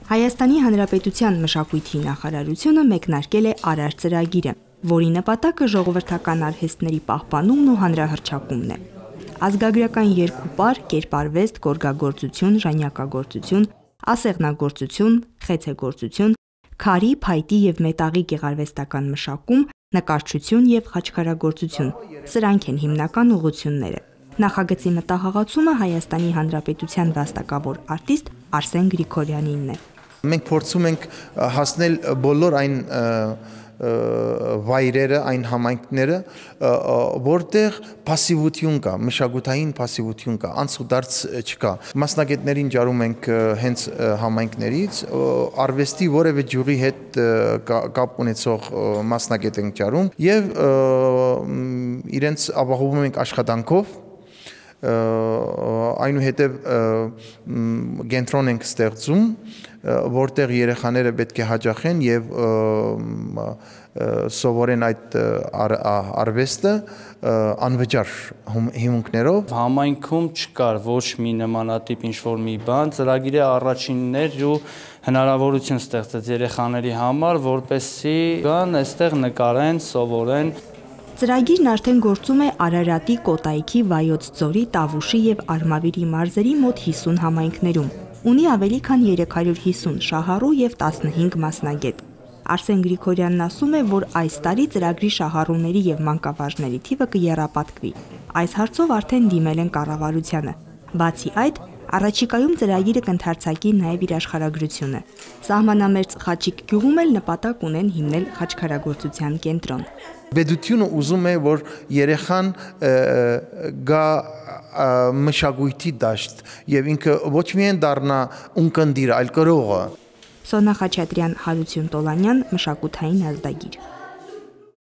Հայաստանի Հանրապետության մշակույթի նախարարությունը մեկնարկել է Արար ծրագիրը, որի նպատակը ժողովրդական արհեստների պահպանումն ու հանրահռչակումն է։ Ազգագրական երկուպար, կերպարվեստ, գորգագործություն, ժանյակագործություն, ասեղնագործություն, խեցեգործություն, քարի, փայտի և մետաղի գեղարվեստական մշակում, նկարչություն և խաչքարագործություն, սրանք են հիմնական ուղղությունները։ Նախագծի մտահղացումը Հայաստանի Հանրապետության վաստակավոր արտիստ Արսեն Գրիգորյանինն է։ Մենք փորձում ենք հասնել բոլոր այն վայրերը, այն համայնքները, որտեղ пассивություն կա, մշակութային пассивություն կա, անցուդարձ չկա։ Մասնագետներին ջարում ենք հենց համայնքներից, արվեստի որևէ ջուրի հետ կապ ունեցող մասնագետ ենք ջարում եւ իրենց ապահովում ենք աշխատանքով, այնուհետև կենտրոն ենք ստեղծում, որտեղ երեխաները պետք է հաճախեն եւ սովորեն այդ արվեստը անվճար հիմունքներով։ Համայնքում չկար ոչ մի նմանատիպ ինչ-որ մի բան, ծրագիրը առաջինն էր ու հնարավորություն ստեղծեց երեխաների համար, որպեսզի գան այստեղ նկարեն, սովորեն։ Ծրագիրն արդեն գործում է Արարատի, Կոտայքի, Վայոց ձորի, Տավուշի և Արմավիրի մարզերի մոտ 50 համայնքներում։ Ունի ավելի քան 350 շահառու և 15 մասնագետ։ Արսեն Գրիգորյանն ասում է, որ այս տարի ծրագրի շահառուների և մանկավարժների թիվը կեռապատկվի։ Այս հարցով արդեն դիմել են կառավարությանը։ Բացի այդ, առաջիկայում ծրագիրը կընդարձակի նաև իր աշխարհագրությունը։ Սահմանամերձ Խաչիկ գյուղում էլ նպատակ ունեն հիմնել խաչքարագործության կենտրոն։ Պետությունը ուզում է, որ երեխան գա մշակույթի դաշտ եւ ինքը ոչ միայն դառնա ունկնդիր, այլ կրողը։ Սոնա Խաչատրյան, Հարություն Տոլանյան, Մշակութային ազդագիր։